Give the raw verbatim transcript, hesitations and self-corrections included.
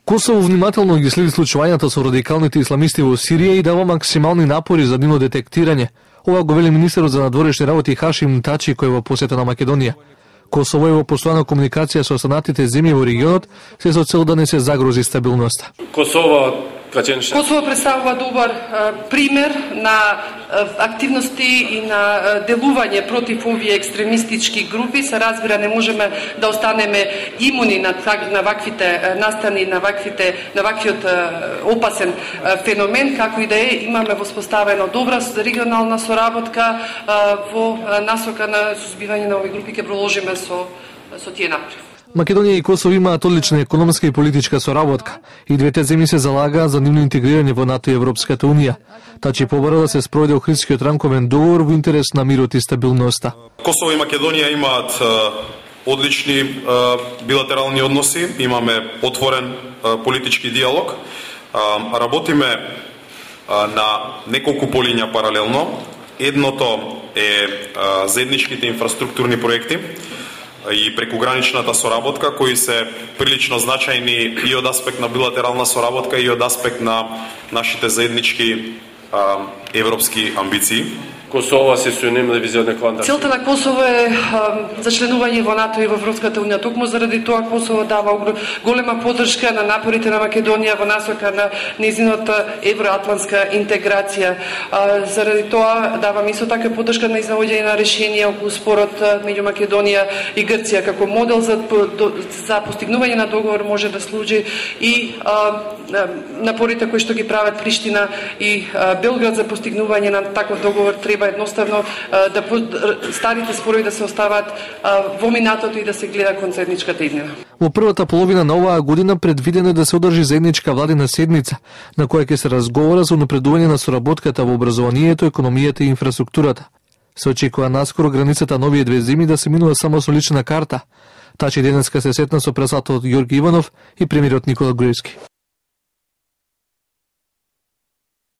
Косово внимателно ги следи случувањата со радикалните исламисти во Сирија и дава максимални напори за нивно детектирање. Ова го вели министерот за надворешни работи Хашим Тачи, кој во посета на Македонија. Косово е во постојана комуникација со останатите земји во регионот, се со цел да не се загрози стабилноста. Косово Косово представува добар а, пример на а, активности и на а, делување против овие екстремистички групи. Се разбира, не можеме да останеме имуни на, на ваквите а, настани, на ваквите на ваквиот а, опасен а, феномен, како и да е, имаме воспоставено добра регионална соработка а, во а, насока на сузбивање на овие групи, ќе продолжиме со со тие напред. Македонија и Косово имаат одлична економска и политичка соработка и двете земји се залагаат за нивно интегрирање во НАТО и Европската унија. Тачи побара да се спроведе Охридскиот рамковен договор во интерес на мирот и стабилноста. Косово и Македонија имаат одлични билатерални односи, имаме отворен политички диалог, работиме на неколку полиња паралелно. Едното е заедничките инфраструктурни проекти и прекуграничната соработка, кои се прилично значајни и од аспект на билатерална соработка и од аспект на нашите заеднички а, европски амбиции. Косово се соединена визионна кванта. Целта на Косово е а, за членување во НАТО и во Европската унија. Токму заради тоа Косово дава голема поддршка на напорите на Македонија во насока на нејзината евроатлантска интеграција. А, заради тоа давам исто така поддршка на изнаоѓање на решение околу спорот меѓу Македонија и Грција како модел за за постигнување на договор може да служи и а, напорите кои што ги прават Приштина и а, Белград за постигнување на таков договор треба едноставно да старите спорови да се остават во минатото и да се гледа кон заедничката иднина. Во првата половина на оваа година предвидено е да се одржи заедничка владина седница, на која ќе се разговара за унапредување на соработката во образованието, економијата и инфраструктурата. Се очекува наскоро границата на овие две земји да се минува само со лична карта. Тачи денеска се сетна со председателот Ѓорги Иванов и премиерот Никола Груевски.